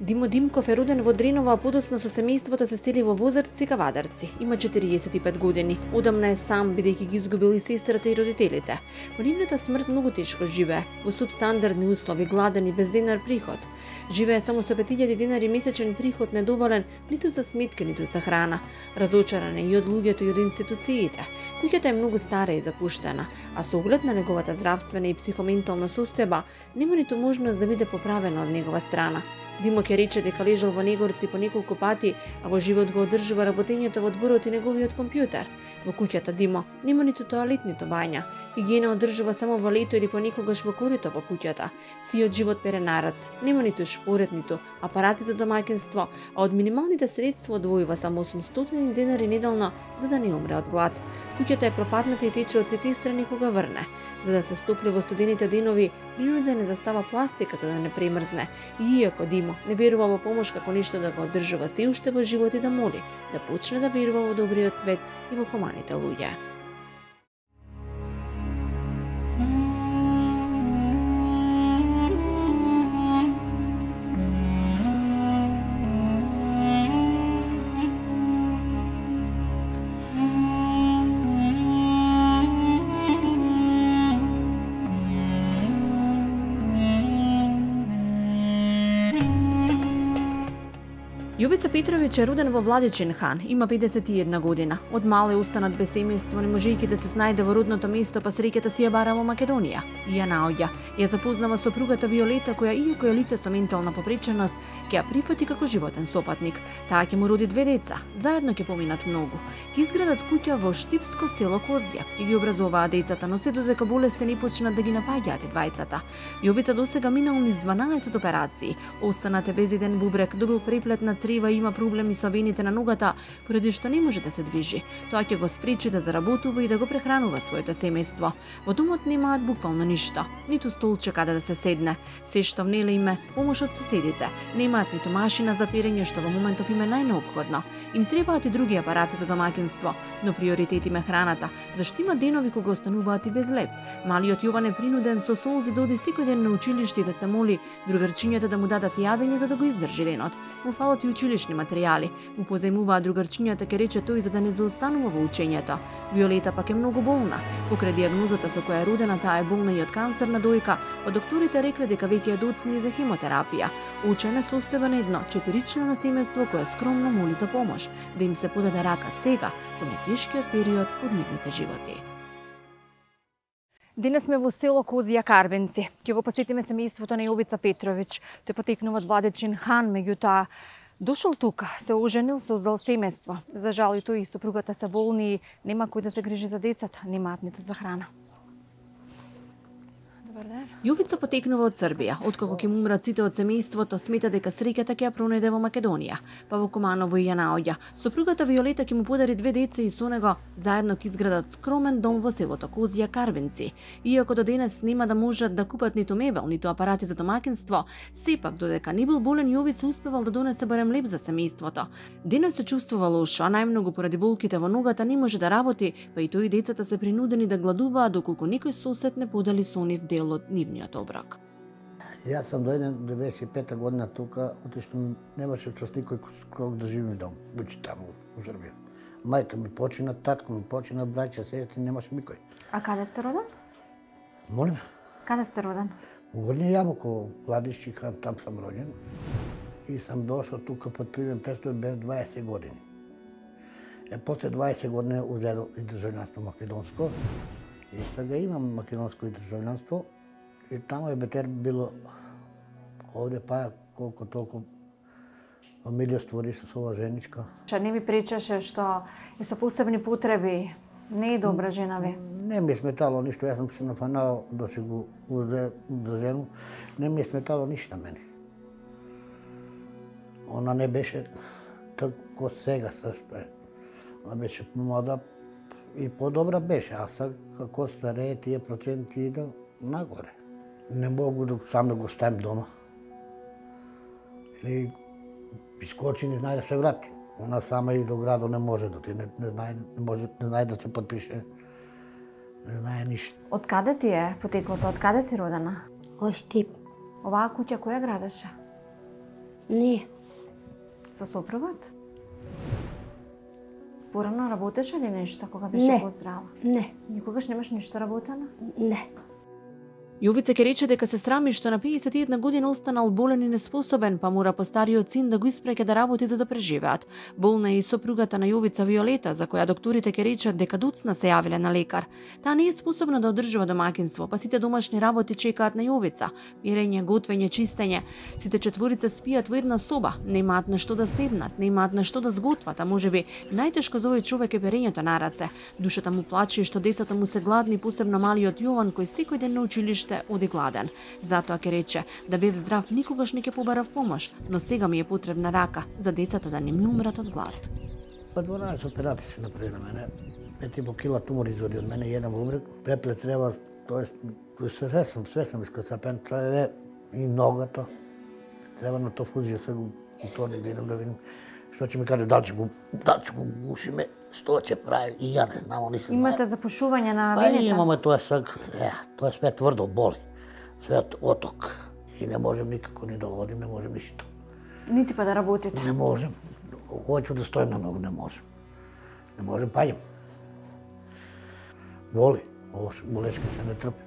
Димо Димков е роден во Дренова, а подоцна со семејството се сели во Возарци, Кавадарци. Има 45 години. Одамна е сам, бидејќи ги изгубил и сестрата и родителите. По нивната смрт многу тешко живее, во субстандардни услови, гладен и без денар приход. Живее само со 5000 денари месечен приход, недоволен ниту за сметки, ниту за храна. Разочаран е и од луѓето и од институциите. Куќата е многу стара и запуштена, а со оглед на неговата здравствена и психоментална состојба, нема ниту можност да биде поправена од негова страна. Димо ќе рече дека лежал во Негорци по неколку пати, а во живот го одржува работењето во дворот и неговиот компјутер. Во куќата Димо нема ниту тоалет, ниту бања. Хигиена одржува само во лето или понекогаш во корито во куќата. Сиот живот пере нарац. Нема ниту шпорет, ниту апарати за домаќинство, а од минималните средства одвојува само 800 денари неделно за да не умре од глад. Куќата е пропадната и тече од сите страни кога врне. За да се стопли во студените денови, принуден е да става пластика за да не премрзне. И иако Димо не верува во помош како ништо да го одржува се уште во живот и да моли, да почне да верува во добриот свет и во хуманите луѓе. Јовица Петровиќ е роден во Владичин хан, има 51 година. Од мал е останат без семејство, не можејќи да се снајде во родното место, па среќата си ја бара во Македонија. И ја наоѓа. Ја запознава сопругата Виолета, која иако е лице со ментална попреченост, ќе ја прифати како животен сопатник. Таа ќе му роди 2 деца, заедно ќе поминат многу. Ќе изградат куќа во Штипско село Козјак, ќе ги образуваат децата, но се додека болести не почнат да ги напаѓаат и двајцата. Јовица досега минал низ 12 операции, останат е без еден бубрек, добил преплет на црева и има проблеми со вените на ногата, поради што не може да се движи. Тоа ќе го спречи да заработува и да го прехранува своето семејство. Во домот немаат буквално ништо, ниту столче каде да се седне. Се што внеле име помош од соседите. Немаат ниту машина за перење, што во моментов им е најнеопходно. Им требаат и други апарати за домаќинство, но приоритет им е храната, зашто има денови кога остануваат и без леп. Малиот Јован е принуден со солзи да оди секој ден на училиште и да се моли другарчињата да му дадат јадење за да го издржи денот. Му фалат и училишни материјали. Му позајмуваат другарчињата, ке рече тој, за да не заостанува во учењето. Виолета пак е многу болна. Покрај дијагнозата со која е родена, таа е болна и од кансерна дојка, па докторите рекле дека веќе е доцна и за хемотерапија. Учена состојба на едно 4-члено семејство кое скромно моли за помош, да им се подаде рака сега, во нетешкиот период од нивните животи. Денес сме во село Козија Карбенци. Ќе го посетиме семејството на Јовица Петровиќ. Тој потекнува од Владичин хан, меѓутоа дошол тука, се оженил, создал семејство. За жал и тој и сопругата се болни и нема кој да се грижи за децата, немаат ниту за храна. Јовица потекнува од Србија. Откако ќе му умрат сите од семејството, смета дека среќата ќе ја пронајде во Македонија. Па во Куманово и ја наоѓа. Сопругата Виолета ќе му подари 2 деца и со него заедно ќе изградат скромен дом во селото Козија Карбенци. Иако до денес нема да можат да купат ниту мебел, ниту апарати за домаќинство, сепак додека не бил болен, Јовица успевал да донесе барем леп за семејството. Денес се чувствува лошо, а најмногу поради болките во ногата не може да работи, па и тој и децата се принудени да гладуваат доколку некој сосед не подели со нив дел од нивниот оброк. Јас сам дојден 95-та година тука, отишто немаше с никој ког да живеем дом, учи таму во Србија. Мајка ми почина, татко ми почина, браќа, сестри, немаше никој. А каде сте роден? Молим? Каде сте роден? Во Горни Јабуко, Владишки хан, там сам роđен. И сам дошол тука под примен престој без 20 години. После 20 години узедо и државјанство македонско. И сега имам македонско и државјанство. И тамо е бетер било овде па колку толку фамилија створи со ова женичка. Не ми причаше што и со посебни потреби не е добра жена ви? Не ми е сметало ништо, јас сум се нафанал да си го узе за жену. Не ми е сметало ништо мене. Она не беше тако сега сашто е. Она беше помлада и подобра беше, а сега како старее тие проценти иде нагоре. Не могу да сам го ставим дома. Или искочи, не знае да се врати. Она сама и до градо не може да ти, не знае да се подпише. Не знае ништо. Од каде ти е потеклото? Од каде си родена? Од Штип. Оваа куќа која градеше? Не. Со сопругот? Порано работеше ли нешто кога беше поздрава? Не. Никогаш немаш ништо работено? Не. Јовица ќе рече дека се срами што на 51 година останал болен и неспособен, па мора по стариот син да го испреке да работи за да преживеат. Болна е и сопругата на Јовица Виолета, за која докторите ќе речат дека доцна се јавиле на лекар. Таа не е способна да одржува домаќинство, па сите домашни работи чекаат на Јовица. Пирење, готвење, чистење. Сите четворица спијат во една соба, немаат на што да седнат, немаат на што да сготват, а можеби најтешко за овој човек е перењето на раце. Душата му плаче што децата му се гладни, посебно малиот Јован кој секој ден на училиште оди гладен. Затоа ќе рече да бев здрав никогаш не ќе побарав помош, но сега ми е потребна рака за децата да не ми умрат од глад. Па 12 операции се направи на мене. 5,5 кила тумор изводи од мене, еден бубрек. Пепле треба, тоест свесам искасапен, тоа е и ногата. Треба на то фузија се го утони да идем да видим што ќе ми каже, дали ќе го гушиме, што ќе прави, и ја не знам, они се Имате запушување на вените? Па имаме тоа сега, тоа е све тврдо, боли. Све оток. И не можем никако ни да водим, не можем ништо. Нити па да работите? Не можем. Хоќу да стоим на ногу, не можем. Не можем, паѓам. Боли, болешка се не трпи.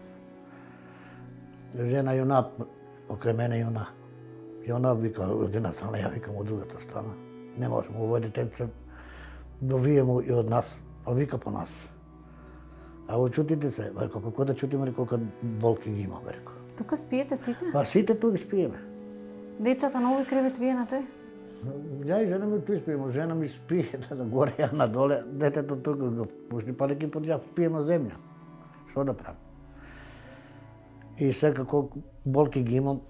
Жена и она, покрај мене и она. И она вика од една страна, ја викам од другата страна. Не можем, овој детенце довие му и од нас, па вика по нас. А во чутите се, рекол, како да чутиме, рекол, кога болки ги имаме, рекол. Тука спиете сите? Па сите тука спиеме. Децата на овој кревет вие на тој? Ја и жена ми тука спиеме, жена ми спие на горе, ја надоле, детето тука го пушти, па неки под ја спиеме земја. Што да правам? И секако болки ги имам,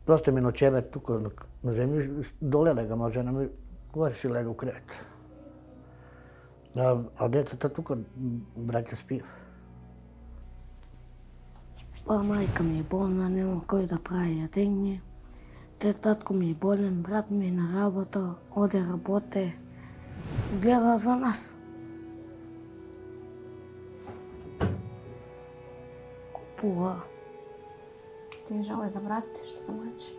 просто ми ночеве тука на земја, доле легам, а жена ми горе си лега у кревет. А децата тука, браќа спија. Па мајка ми е болна, нема кој да прави јадење. Татко ми е болен, брат ми е на работа, оде работе, гледа за нас. Купува. Ти е жал и за брат ти што се мачи?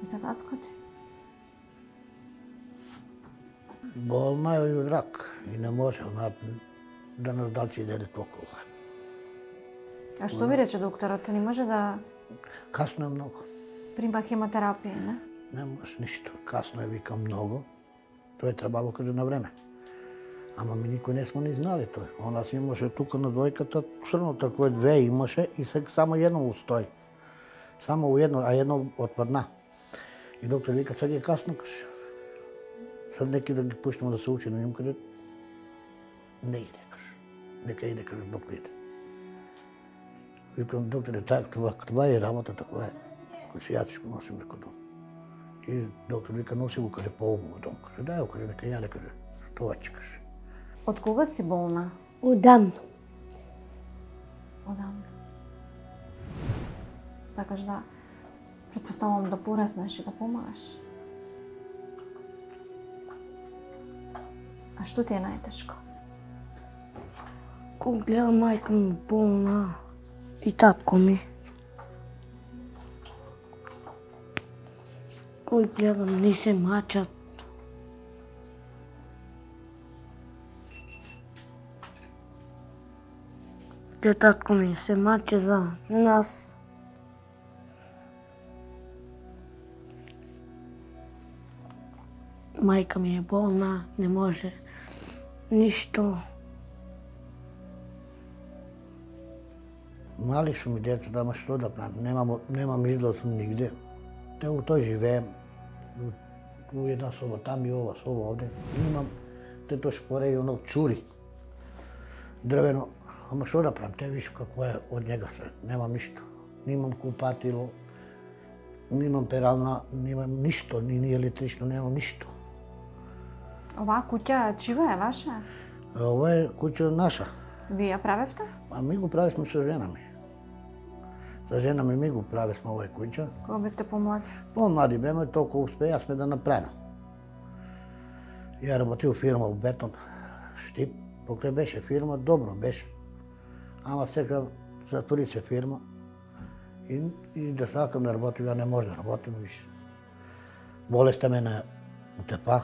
И за татко ти? Болна е и од рак и не може да нас далчи деде толкова. А што ви рече докторот? Не може да Касно е многу. прима хемотерапија, не? Не може ништо. Касно е, вика, многу. Тоа е требало каде на време. Ама ми никој не сме ни знали тоа. Она си имаше тука на дојката, црното кој две имаше и сега само едно устои. Само едно, а едно отпадна. И доктор вика, сега е касно, каже. Sad neki da ги пуштиме да се учи на ним, каже, не иде, каже. Нека иде, каже, док иде. Викам, докторе, това е работата, која е. Каже, ја ќе го носим некој дом. И доктор вика, носи го, каже, по-обува дом. Каже, дај го, каже, нека јаде, каже, тоа ќе, каже. Од кога си болна? Одамно. Одамно. Сакаш да, предпоставувам да пораснеш и да помагаш. А што ти е најтешко? Кога гледам мајка ми болна и татко ми. Кога гледам не се мачат. Те татко ми се маче за нас. Мајка ми е болна, не може ништо. Мали су ми децата, ама што да правам? Немам излаз нигде. Те у тој живеем. У една соба там и ова соба овде. Имам те тој шпоре и оно чури. Дрвено. Ама што да правам? Те виш какво е од njega се. Немам ништо. Немам купатило, немам перална, немам ништо, ни електрично, немам ништо. Оваа куќа чива е ваша? Ова е куќа наша. Вие ја правевте? А ми го правевме со жена ми. Со жена ми го правевме овај куќа. Кога бевте помлади? Помлади беме, толку успеавме да направиме. Ја работив у фирма у Бетон, Штип. Покрај беше фирма, добро беше. Ама сега затвори се фирма и да сакам да работим, ја не може да работим више. Болеста ме на тепа,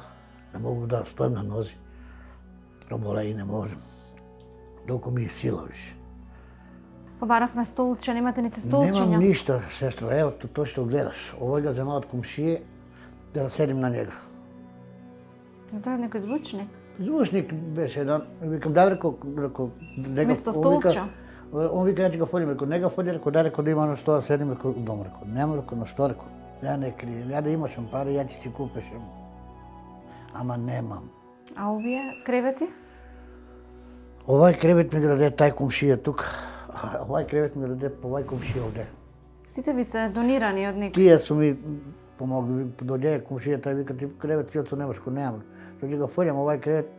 не могу да стојам на нози. Обола и не можем. Доку ми сила више. Побаравме столче, немате нити столчиња. Немам ништа, сестро, ево тоа што гледаш. Овој го земаат комшије да седим на него. Но тоа е некој звучник. Звучник беше еден, викам да реко, Место столче. Он вика ја ќе го фолим, реко, не го фоли, реко, да реко да има на што седим, реко, дома, реко, нема, реко, на што, реко. Ја не крием, ја да имашам пари, ја ќе си купешам. Ама немам. А овие кревети? Овај кревет ми го даде тај комшија тук, овај кревет ми го даде по овај комшија овде. Сите ви се донирани од некој. Тие су ми помогли, дојде комшија, тај вика, ти кревет, ти немашко немам. Што ќе го фолим овај кревет,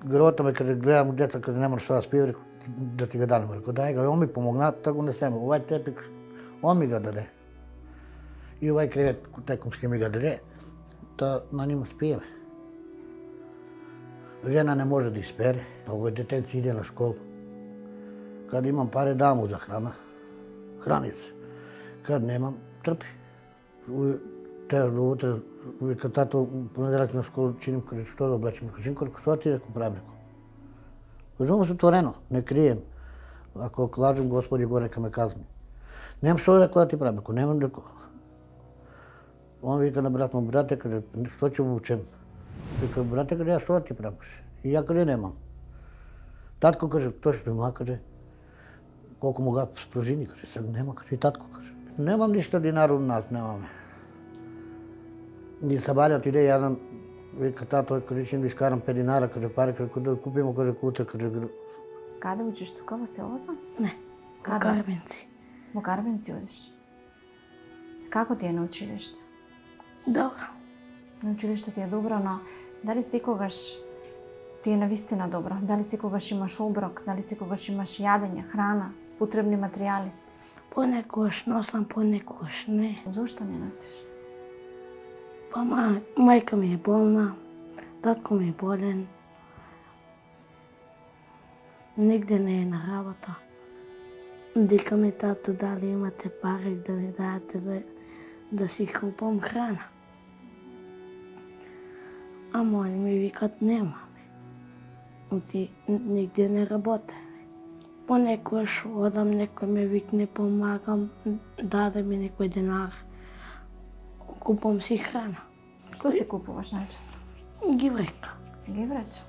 гробата ме каде гледам деца, каде нема што да спијам, реко, да ти го дадам, реко, дај го, он ми помогна, така го несеме. Овај тепик, он ми го даде. И овај кревет, тај комшија ми го даде, та на нима спиеме. Жена не може да испере, овој детенци иде на школа. Кад имам пари, дам му за храна. Храни се. Кад немам, трпи. Те утре, вика тато, понеделак на школа, чиним, каже, што да облечем? Синко, што ти реко правим, реко? Кажувам се отворено, не крием. Ако лажем, Господи го нека ме казни. Немам што да ти правим, реко, немам реко. Он вика на брат му, брате, каже, што ќе обучем? Вика, брате, каже, ја што да ти правим? И ја каже, немам. Татко каже, тој што има, каже, колку му гад спружини, каже, сега нема, каже, и татко каже. Немам ништо динар од нас, немаме. Ни сабарјат иде јадам, вика, тато, каже, ќе ми искарам 5 динара, каже, пари, каже, да купимо, каже, утре, каже. Каде учиш тука во селото? Не, во Карбенци. Во Карбенци одиш. Како ти е на училиште? Добро. На училиште ти е добро, но дали секогаш ти е навистина добро? Дали секогаш имаш оброк? Дали секогаш имаш јадење, храна, потребни материјали? Понекогаш носам, понекогаш не. Зошто не носиш? Па мајка ми е болна, татко ми е болен. Нигде не е на работа. Вика ми тато, дали имате пари да ми дадете да си купам храна. Ама они ми викат немаме. Оти нигде не работеме. Понекогаш одам, некој ме викне, помагам, даде ми некој денар. Купам си храна. Што си купуваш најчесто? Гиврека. Геврече.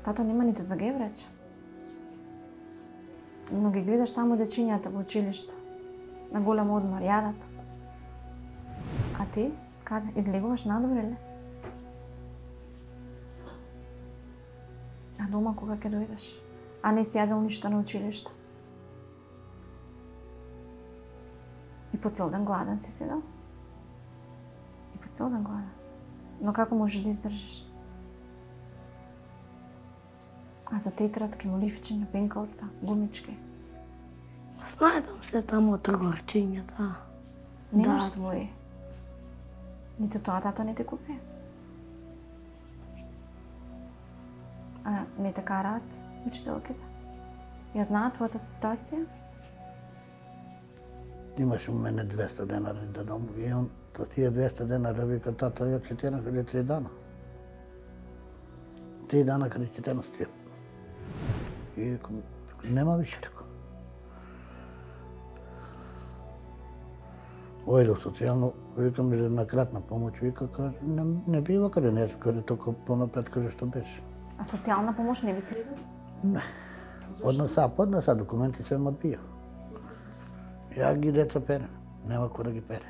Тато нема ниту за геврече. Но ги гледаш таму дечињата во училиште. На голем одмор јадат. А ти? Каде? Излегуваш надобре ли? А дома кога ќе дојдеш? А не си јадел ништо на училиште? И по цел ден гладен си седел? И по цел ден гладен? Но како можеш да издржиш? А за тетрадки, моливчиња, пенкалца, гумички? Снајдам се тамо од трговарчињата. Немаш своји? Ниту тоа тато не те купи? А не те караат учителките? Ја знаат твојата ситуација? Имаше мене 200 денари да дом и он то тие 200 денари вика тато ја четена каде 3 дана. 3 дана каде четена стија. И викам, нема више, реко. Ојде социјално, викам на кратна помоќ, вика, не бива каде не, каде толку понапред каде што беше. А социјална помош не би следува? Не. Поднеса документи се ме одбија. Ја ги деца перем, нема кој да ги пере.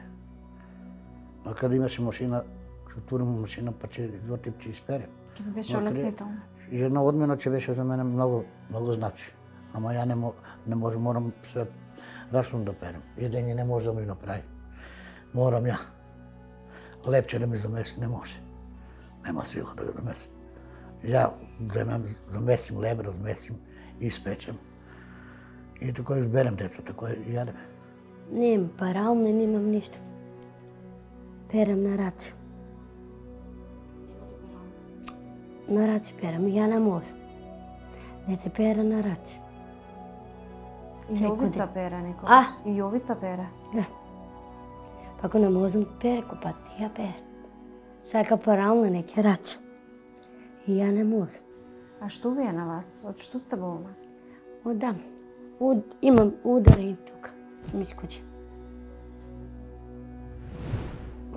А каде имаше машина, ќе отворим машина, па ќе двотип ќе исперем. Ќе би беше олеснително. Една одмена ќе беше за мене многу значи. Ама ја не можам, морам све рачно да перем. Едење не може да ми направи. Морам ја. Лепче да ми замеси не може. Нема сила да го замеси. Ја замесим леб, размесим, испечем. И така изберем децата кои јадеме. Немам паралне, немам ништо. Перем на раци. На раци перем, ја не можам. Не те пере на раци. И Јовица пере некој? А? И Јовица пере? Да. Па ако не можам переко, па ти ја пере. Сака парална не ќе рача. И ја не можам. А што ви е на вас? Од што сте болна? Да. Имам удари тука. Ми скучи.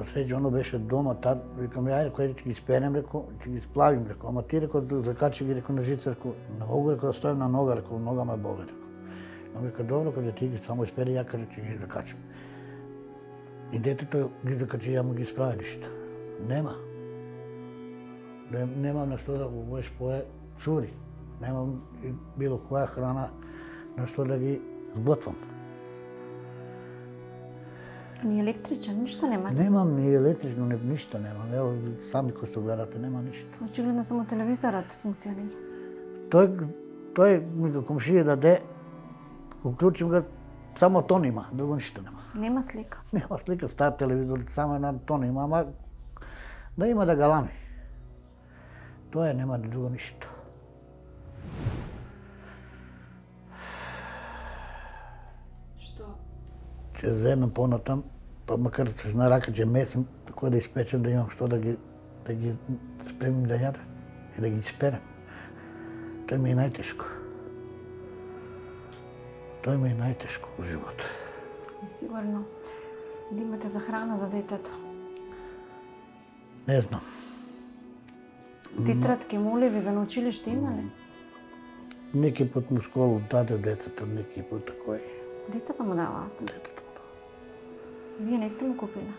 Среќа оно беше дома, тад, викам, ајде, кој ќе ги спенем, реко, ќе ги сплавим, реко, ама ти, реко, закачи ги, реко, на жица, реко, не могу, реко, да стоим на нога, реко, нога ме боли, реко. Он вика, добро, кога ти ги само испери, ја кажа, ќе ги закачим. И детето ги закачи, ја му ги справи ништо. Нема. Немам на што да го боеш поре, чури. Немам било која храна на што да ги сглотвам. Ни електричен, ништо нема? Немам ни електрично, ништо немам. Ево, сами кои што гледате, нема ништо. Очигледно само телевизорот функционира. Тој ми го комшија даде, го клучим го, само тон има, друго ништо нема. Нема слика? Нема слика, стар телевизор, само една тон има, ама да има да галами. Тоа нема друго ништо. Што? Ќе земем понатам, па макар се зна рака ќе месим, како да испечем, да имам што да ги спремим да јадам и да ги исперем. Тоа ми е најтешко. Тоа ми е најтешко во живот. И сигурно да имате за храна за детето. Не знам. Тетрадки, моливи за на училиште има ли? Неки пат му школу даде децата, неки пат такој. Децата му даваат? Децата му дава. Вие не сте му купили?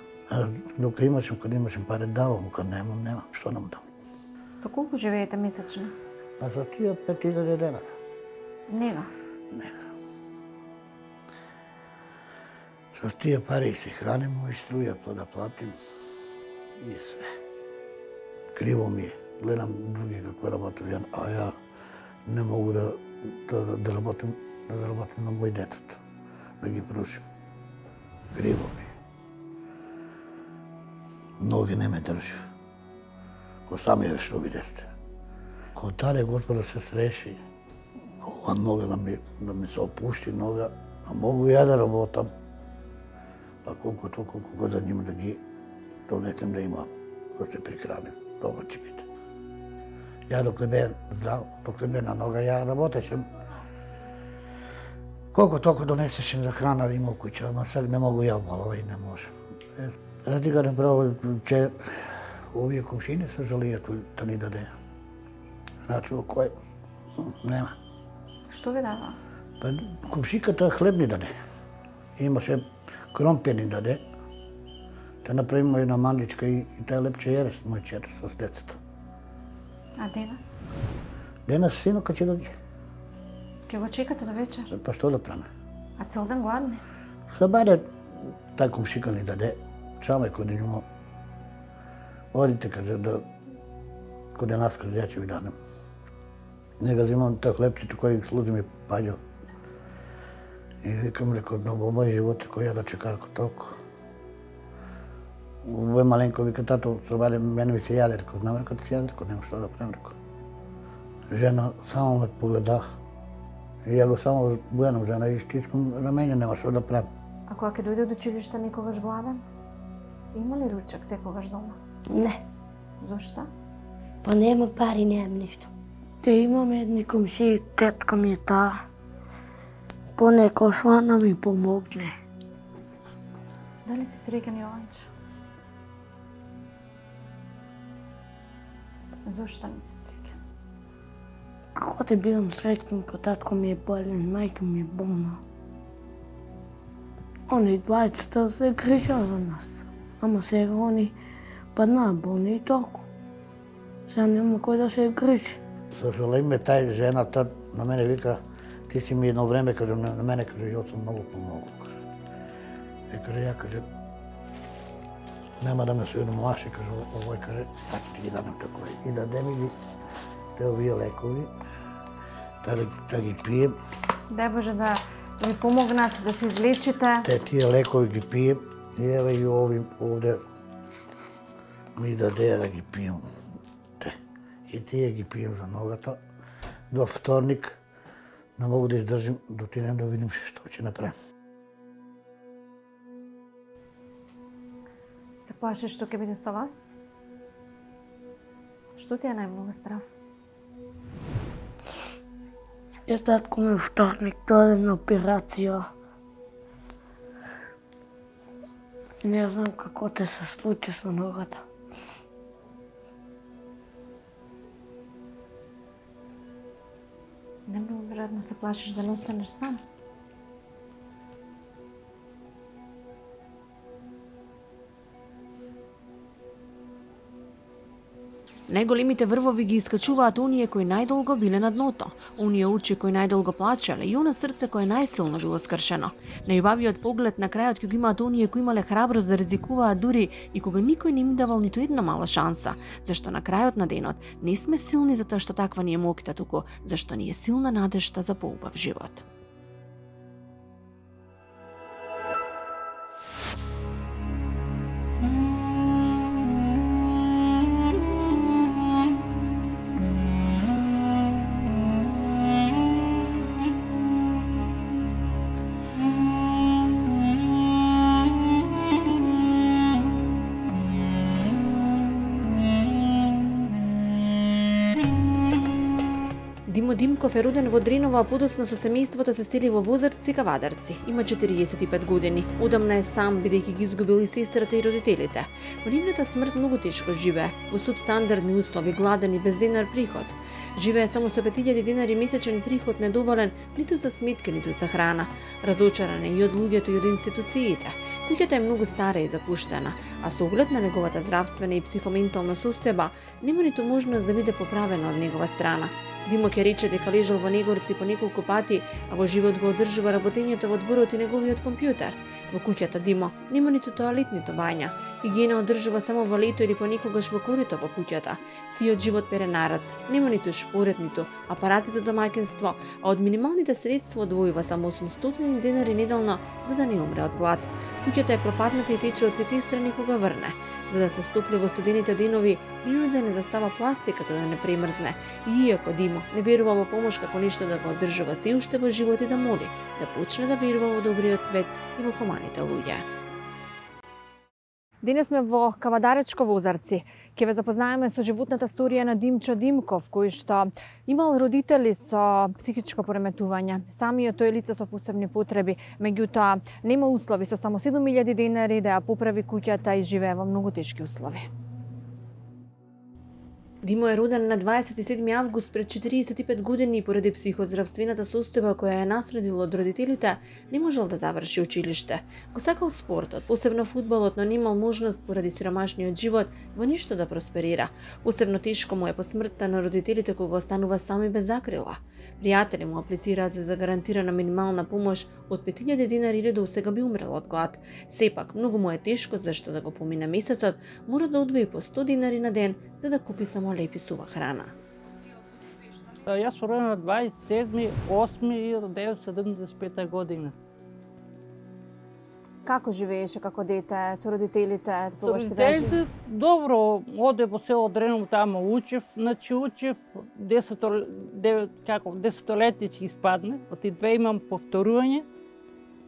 Кога имашем пари, давам, кога немам, што да му дам. За колку живеете месечно? Па за тие 5000 денара. Нега? Нега. Со тие пари се храним, и струја да платим и све. Криво ми е. Гледам други како работат, а ја не могу да работим на мој детето, да ги прушим. Криво ми е. Ноги не ме држи. Ко сами ве што видесте. Ко даде Господа се среши, ова нога да ми се опушти нога, а могу ја да работам. Па колку да нима да ги донесем да има, да се прихраним. Добро ќе биде. Ја докле бе здрав, докле бе на нога, ја работешем. Колку толку донесешем за храна да има у куќа, ама сега не могу ја болова и не можем. Да ти кажем право, че овие комшини се жалијат да ни даде. Значи, кој? Нема. Што ви дава? Па комшиката хлеб ни даде. Имаше кромпир ни даде. Те направиме една манџичка и таа лепче једеш мој чет со децата. А денес? Денес синока ќе дојде. Ќе го чекате до вечер? Па што да правиме? А цел ден гладни? Се баре тај комшика ни даде, чаме кој да има. Одите, каже, кој нас, каже, ја ќе ви дадем. Нега взимам тој хлебчето кој служи ми паѓо. И викам, рекол, во мој живот кој ја да чекарко толку. Во маленко вика, тато, собаре, мене ми се јаде, рекол, знам, рекол, ти се јаде, рекол, нема што да правим, рекол. Жена само ме погледа. И ја го само бујанам жена и стискам рамене, нема што да правим. А кога ќе дојде од училиште никогаш гладен? Има ли ручак секогаш дома? Не. Зошто? Па нема пари, немам ништо. Те имаме едни комшии, тетка ми е таа. Понекош она ми помогне. Дали си среќен, Јованче? Зошто не си среќен? Ако те бидам среќен, ко татко ми е болен, мајка ми е болна. Они двајцата се грижа за нас. Ама сега они паднаа болни и толку. Сега нема кој да се грижи. Со жалеме тај жената на мене вика, ти си ми едно време, каже, на мене, каже, ја сум многу помогол. И каже, ја, каже, нема да ме се уномаши, каже, овој, каже, така ти ги дадам такој. И даде ми ги те овие лекови, да ги пием. Дај Боже да ви помогнат да се излечите. Те тие лекови ги пием и еве и овде ми даде да ги пием. И тие ги пием за ногата. До вторник не могу да издржим, да отидем да видим што ќе направим. плашиш што ќе биде со вас? Што ти е најмногу страв? Татко ми вторник дојде на операција. Не знам како те се случи со ногата. Не многу веројатно се плашиш да не останеш сам. Најголемите врвови ги искачуваат оние кои најдолго биле на дното, оние очи кои најдолго плачеле и она срце кое најсилно било скршено. Најубавиот поглед на крајот ќе го имаат оние кои имале храброст да ризикуваат дури и кога никој не им давал ниту една мала шанса, зашто на крајот на денот не сме силни затоа што таква ни е моќта, туку зашто ни е силна надежта за поубав живот. Димо Димков е роден во Дринова, а подоцна со семејството се сели во Возарци, Кавадарци. Има 45 години. Одамна е сам, бидејќи ги изгубил и сестрата и родителите. По нивната смрт многу тешко живее, во субстандардни услови, гладен и без денар приход. Живее само со 5000 денари месечен приход, недоволен ниту за сметки, ниту за храна. Разочаран е и од луѓето и од институциите. Куќата е многу стара и запуштена, а со оглед на неговата здравствена и психоментална состојба, нема ниту можност да биде поправена од негова страна. Димо ќе рече дека лежал во Негорци по неколку пати, а во живот го одржува работењето во дворот и неговиот компјутер. Во куќата Димо нема ниту тоалет, ниту бања. Хигиена одржува само во лето или понекогаш во корито во куќата. Сиот живот пере нарац. Нема ниту шпоред, ниту апарати за домаќинство, а од минималните средства одвојува само 800 денари неделно за да не умре од глад. Куќата е пропадната и тече од сите страни кога врне. За да се стопли во студените денови, принуден е да става пластика за да не премрзне. И иако Димо не верува во помош како ништо да го одржува се уште во живот и да моли, да почне да верува во добриот свет и во хуманите луѓе. Денес сме во Кавадаречко Возарци. Ќе ве запознаеме со животната сторија на Димчо Димков, кој што имал родители со психичко пореметување. Самиот тој лице со посебни потреби, меѓутоа нема услови со само 7000 денари да ја поправи куќата и живее во многу тешки услови. Димо е роден на 27 август пред 45 години и поради психоздравствената состојба која е наследил од родителите, не можел да заврши училиште. Го сакал спортот, посебно фудбалот, но немал можност поради сиромашниот живот во ништо да просперира. Посебно тешко му е по смртта на родителите кога останува сам и без закрила. Пријатели му аплицираат за гарантирана минимална помош од 5000 денари или до сега би умрел од глад. Сепак, многу му е тешко зашто да го помине месецот, мора да одвои по 100 денари на ден за да купи само лепи сува храна. Јас сум роден на 27.8.1975 година. Како живееше како дете со родителите? Со родителите добро, оде во село Дреново, таму учев, значи учев 10 летици испадне, оти две имам повторување.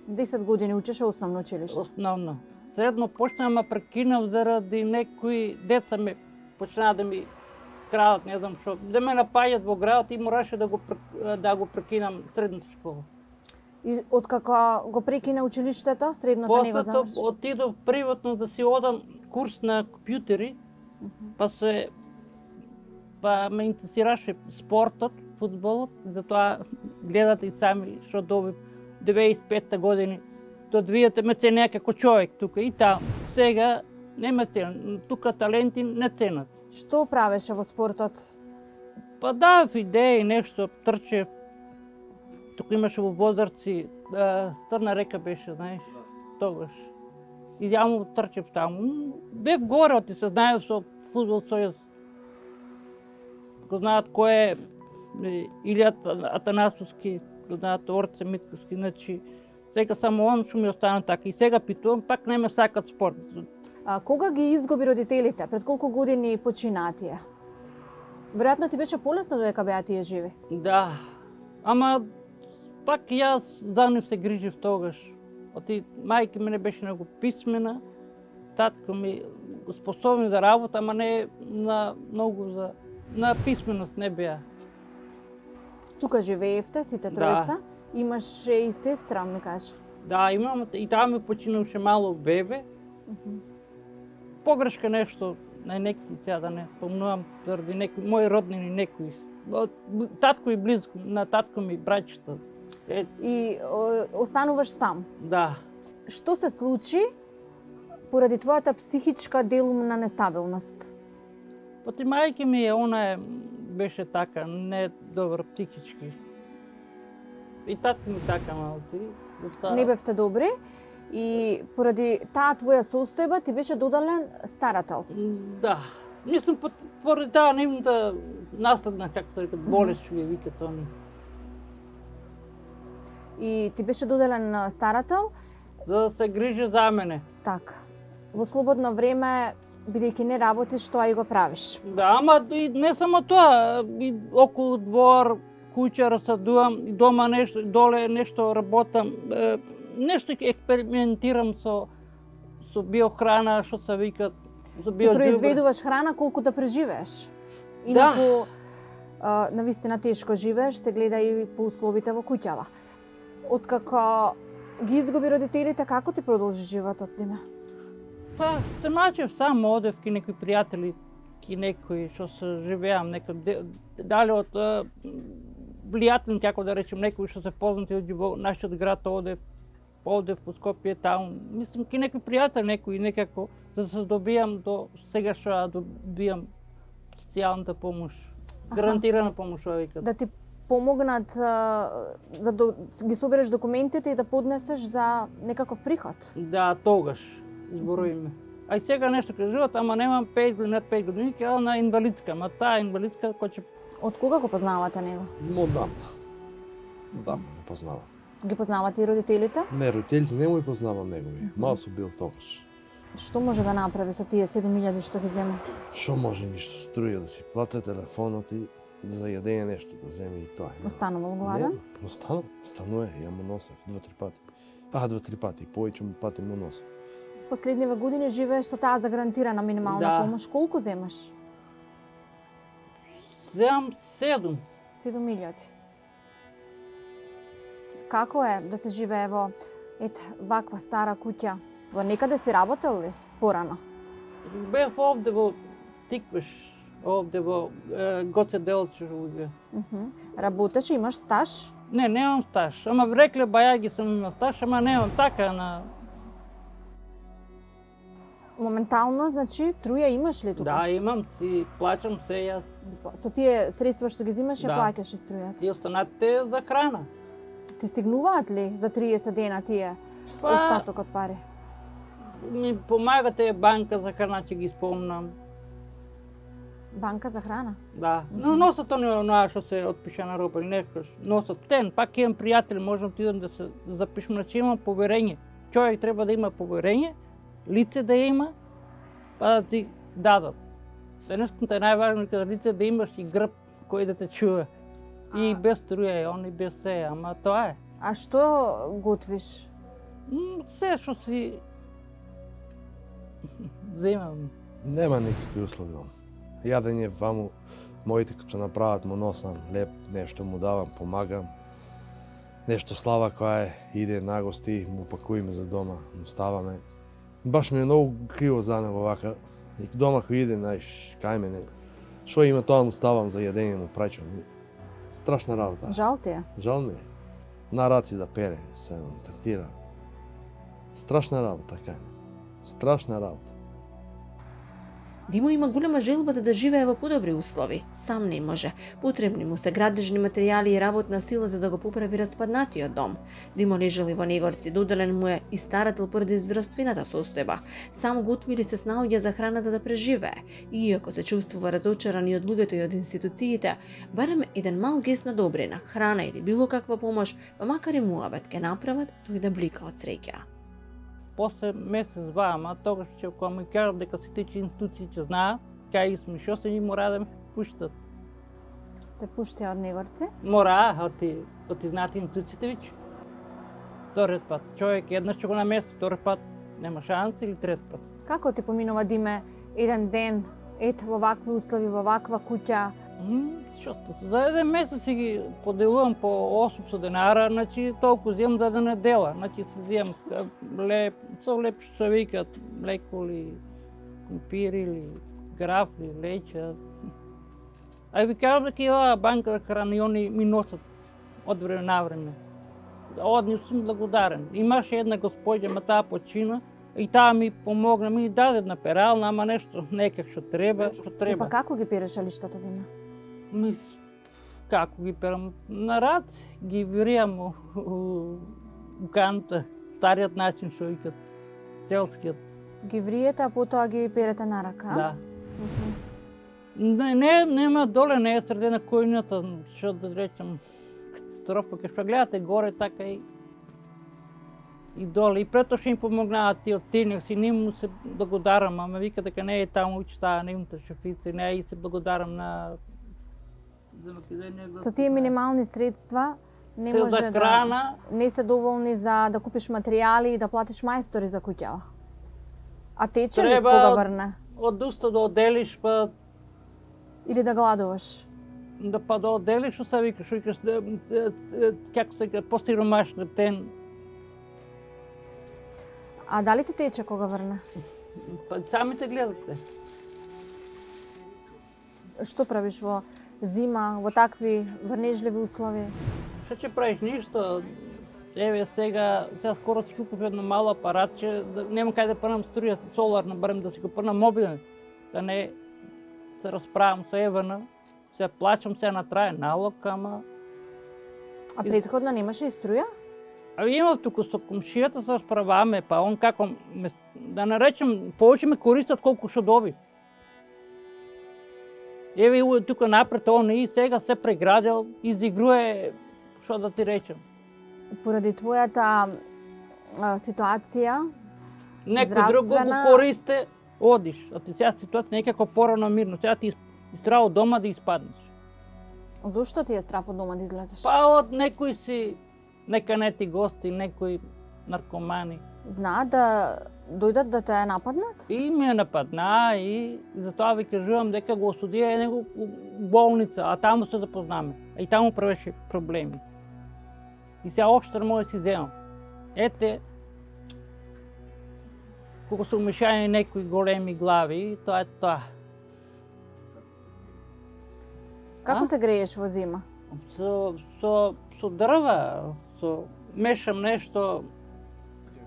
10 години учеше основно училиште? Основно. Средно почнав ма прекинав заради некои деца ме почнаа да ми крадат, не знам што, да ме напаѓат во градот и мораше да го прекинам средната школа. И откако го прекина училиштето, средното не го заврши? После отидов приватно да си одам курс на компјутери, па ме интересираше спортот, фудбалот, затоа гледате и сами што добив 95 години. До 2000 ме ценеа како човек тука и таму. Сега не ме ценат, тука таленти не ценат. Што правеше во спортот? Па давав идеи, нешто, трчев. Тука имаше во Возарци, Црна река беше, знаеш, тогаш. И ја му трчев таму. Бев горе, оти се знаев со Фудбал Сојуз. Го знаат кој е Илија Атанасовски, го знаат Орце Митковски, значи сега само он што ми остана така. И сега питувам, пак не ме сакат спорт. Кога ги изгуби родителите? Пред колку години починаа тие? Веројатно ти беше полесно додека беа тие живи? Да, ама пак јас за нив се грижив тогаш. Оти мајка мене беше многу писмена татко ми способни за работа, ама не на многу на писменост не беа. Тука живеевте сите тројца. Имаше и сестра, ми кажа. Да, имам и таа ми починуваше мало бебе. Погрешка нешто на некои сега да не спомнувам заради некои мои роднини некои. Татко и близко на татко ми браќата. И остануваш сам. Да. Што се случи поради твојата психичка делумна нестабилност? Поти мајка ми она беше така, не добро психички. И татко ми така малци. Не бевте добри и поради таа твоја состојба ти беше додален старател. Да. Мислам, поради таа нивната наследна, како се рекат, болест, што ја викат они. И ти беше доделен старател? За да се грижи за мене. Така. Во слободно време, бидејќи не работиш, тоа и го правиш. Да, ама и не само тоа, и околу двор, куќа расадувам, и дома нешто, доле нешто работам, нешто експериментирам со биохрана, што се викат, со Се произведуваш храна колку да преживееш. Инаку, навистина тешко живееш, се гледа и по условите во куќава. Откако ги изгуби родителите, како ти продолжи животот, Диме? Па, се мачев сам, одев ки некои пријатели, ки некои што се живеам, некои дали од влијателни, како да речем, некои што се познати во нашиот град одев по Скопје таму. Мислам ки некои пријатели, некои некако да се добијам до сега што добијам социјалната помош, гарантирана помош, викат. Да ти помогнат да ги собереш документите и да поднесеш за некаков приход? Да, тогаш изборуваме. А и сега нешто кажуват, ама немам 5 години, над 5 години, ќе на инвалидска, ама таа инвалидска кој ќе... Од кога го познавате него? Одамна. Да, не познавам. Ги познавате и родителите? Не, родителите не му познавам негови. Мал сум бил тогаш. Што може да направи со тие 7.000 што ги зема? Што може ништо, струја да си плати телефонот и за јадење нешто да земе и тоа. Останувал гладен? Не, останува, ја му носев 2-3 пати. 2-3 пати, повеќе му пати му носев. Последниве години живееш со таа загарантирана минимална помош. Колку земаш? Земам 7. 7.000. Како е да се живее во ваква стара куќа? Во некаде си работел ли порано? Бев овде во Тиквеш, овде во Гоце Делче. Работеш, имаш стаж? Не, немам стаж. Ама рекле бајаги сум имал стаж, ама немам така на... Моментално, значи, струја имаш ли тука? Да, имам, си плачам се јас. Со тие средства што ги зимаш, ја Да. плаќаш и струјата? И останатите за храна. Ти стигнуваат ли за 30 дена тие остаток од пари? Ми помагате банка за храна, ќе ги спомнам. Банка за храна? Да. Но носат онаа што се отпиша на роба или некош. Носат тен, пак имам пријатели, можам ти да се запишам, значи имам поверење. Човек треба да има поверење, лице да има, па да ти дадат. Денеската е најважно кога лице да имаш и грб кој да те чува. И без струја е, он и без се, ама тоа е. А што готвиш? Се што си земам. Нема никакви услови. Јадење ваму, моите што направат му носам леп, нешто му давам, помагам. Нешто слава која иде на гости, му пакуиме за дома, му ставаме. Баш ми е многу криво за него вака. И дома кој иде, знаеш, кај мене, што има тоа му ставам за јадење, му праќам. Страшна работа. Жал ти е? Жал ми е. На раци да пере, се третира. Страшна работа, кај не. Страшна работа. Димо има голема желба за да живее во подобри услови. Сам не може. Потребни му се градежни материјали и работна сила за да го поправи распаднатиот дом. Димо лежали во Негорци, доделен му е и старател поради здравствената состојба. Сам готвили се снаоѓа за храна за да преживее. И иако се чувствува разочаран и од луѓето и од институциите, барем еден мал гест на добрина, храна или било каква помош, па макар и муабет ке направат, тој да блика од среќа. После месец-два, ама тогаш ќе кога ми кажат дека сите институции ќе знаат, кај сме, што се ни мора да ме пуштат. Те пуштија од Негорци? Мора, оти знаат институциите веќе. Вториот пат, човек еднаш ќе го намести, втори пат нема шанс или трет пат. Како ти поминува да име еден ден, во вакви услови, во ваква куќа? За еден месец си ги поделувам по 800 денара, значи толку земам за една недела. Значи си земам со леп што се викат, млеколи, компири или графли, леќа. А ви кажам дека и оваа банка за храна и они ми носат од време на време. Од нив сум благодарен. Имаше една господја, ма таа почина, и таа ми помогна, ми даде една перална, ама нешто некак што треба. Па како ги переш лиштата, Диме? Како ги перам? На рац ги виријам у канта, стариот начин што викат, селскиот. Ги вриете, а потоа ги перете на рака? Да. Нема доле, не е средена којната, што да речем, катастрофа, кај што гледате горе, така и доле. И прето што им помогнават тие од тенек си, не му се благодарам, ама вика дека не е таму учтаа, не имате шефица, не и се благодарам на... Со тие минимални средства не може да не се доволни за да купиш материјали и да платиш мајстори за куќава. А тече ли кога врне? Од уста да оделиш, па... Или да гладуваш? Да оделиш, што се викаш, како се вика, по-сиромаш лептен. А дали ти тече кога врне? Па самите гледате. Што правиш во зима, во такви врнежливи услови? Што ќе правиш? Ништо. Еве сега скоро си купив едно мало апаратче, нема кај да прнам струја соларна, барем да си го прнам мобилен, да не се расправам со Евана. Се плачам се на траен налог, ама... А претходно немаше и струја? Имав туку со комшијата се расправаме, па он како, да наречем, повеќе ме користат колку што доби. Еве тука напред он и сега се преградил, изигруе, што да ти речем. Поради твојата ситуација, некој друг го користе, одиш. А ти сега ситуација некако порано мирно. Сега ти страв од дома да испаднеш. Зошто ти е страв од дома да излезеш? Па од некои си неканети гости, некои наркомани. Знаат да дојдат да те нападнат? И ме нападна и затоа ви кажувам дека го осудија него болница, а таму се запознаме. И таму правеше проблеми. И сега оштар може да си земам. Ете, кога се умешајани некои големи глави, тоа е тоа. Како се грееш во зима? Со дрва, мешам нешто,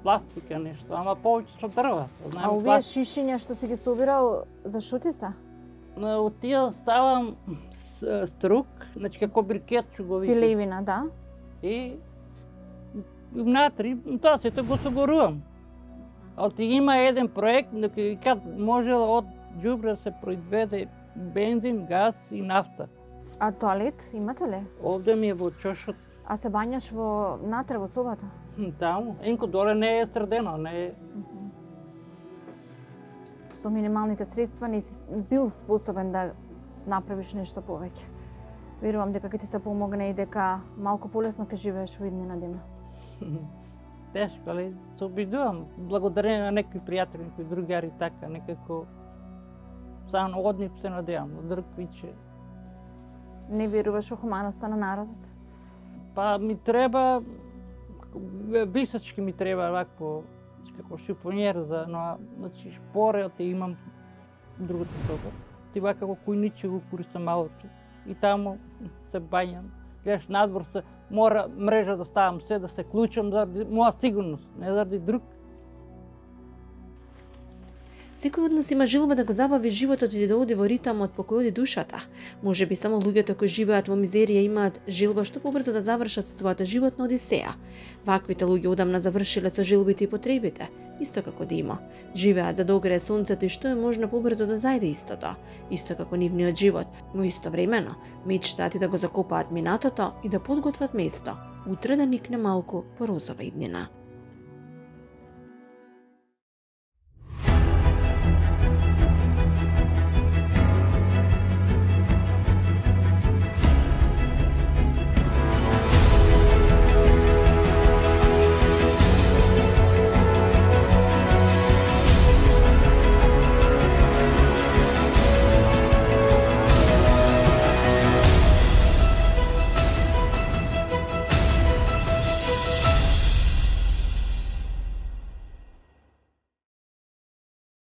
пластика нешто, ама повеќе со дрва. А овие шишиња што си ги собирал, за што ти се? Од тие ставам струк, значи како брикет што го викам. Пилевина, да. И внатри, тоа сето го согорувам. А има еден проект, дека може од џубре се произведе бензин, газ и нафта. А тоалет имате ли? Овде ми е во чошот. А се бањаш внатре во собата? Таму. Енко доле не е средено, не е. Со минималните средства не си бил способен да направиш нешто повеќе. Верувам дека ќе ти се помогне и дека малку полесно ќе живееш во иднина дена. Тешко, али се обидувам. Благодарение на некои пријатели, некои другари, така, некако само од нив се надевам, од друг виче. Не веруваш во хуманоста на народот? Па ми треба, височки ми треба вакво, како шифонјер за, значи шпорел ти имам другата соба. Ти вака како кујниче го користам малото. И таму се бањам. Гледаш надвор се, мора мрежа да ставам се, да се клучам заради моја сигурност, не заради друг. Секој од нас има желба да го забави животот или да оди во ритам од покој оди душата. Може би само луѓето кои живеат во мизерија имаат желба што побрзо да завршат својата животна одисеја. Ваквите луѓе одамна завршиле со желбите и потребите, исто како Дима. Живеат за да огрее сонцето и што е можно побрзо да зајде истото, исто како нивниот живот, но истовремено мечтаат и да го закопаат минатото и да подготват место, утре да никне малку по розова иднина.